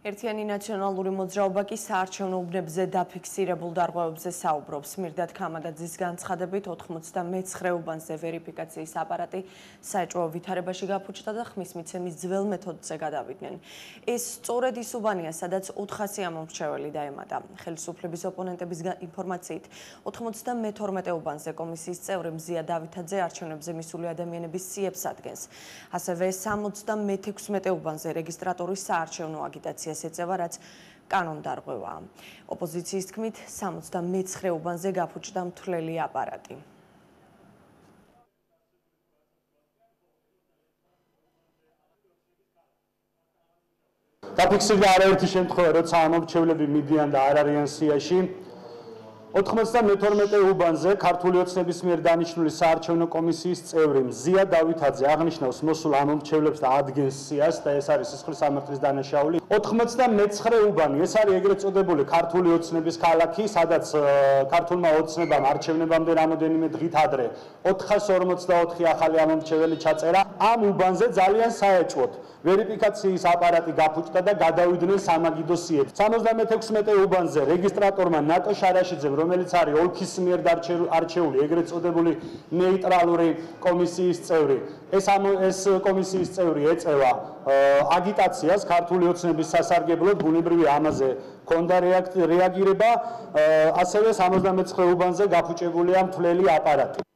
ერთიანი ნაციონალური მოძრაობა კი საარჩევნო უბნებზე დაფიქსირებულ დარღვევებზე საუბრობს. მირდად ქამაგაძის განცხადებით 99 უბანზე ვერიფიკაციის აპარატი საეჭვო ვითარებაში გაფუჭდა და ხმის მიცემის ძველ მეთოდზე გადავიდნენ. ეს სწორედ ის უბანია, სადაც 400 ამომრჩეველი დაემატა. ხელისუფლების ოპონენტების ინფორმაციით 92 უბანზე კომისიის წევრი მზია დავითაძე არჩევნებზე მისული ადამიანების სიებს ადგენს. ასევე 76 უბანზე რეგისტრატორის საარჩევნო აგიტაციას ეწევა, რაც კანონდარღვევაა. ოპოზიციის თქმით, 79 უბანზე გაფუჭდა მთლელი აპარატი. დაფიქსირდა არაერთი შემთხვევა, როცა ამომრჩევლები მიდიან და არ არიან სიაში. 92 უბანზე ქართული ოცნების მიერ დანიშნული საარჩევნო კომისიის წევრი მზია დავითაძე აღნიშნავს მოსულ ამომრჩევლებს და ადგენს სიას და ეს არის სისხლის სამართლის დანაშაული. 99 უბანი, ეს არის ეგრეთ წოდებული ქართული ოცნების ქალაქი, სადაც ქართულმა ოცნებამ არჩევნებამდე რამოდენიმე დღით ადრე 444 ახალი ამომრჩეველი ჩაწერა. ამ უბანზე ძალიან საეჭვოდ ვერიფიკაციის აპარატი გაფუჭდა და გადავიდნენ სამაგიდო სიებს. 76 უბანზე რეგისტრატორმა ნატო შარაშიძემ, რომელიც არის ოლქის მიერ არჩეული ეგრეთ წოდებული ნეიტრალური კომისიის წევრი, ეს კომისიის წევრი ეწევა აგიტაციას ქართული ოცნების სასარგებლოდ, ბუნებრივი ამაზე ჰქონდა რეაგირება, ასევე 79 უბანზე გაფუჭებულია მთლელი აპარატი.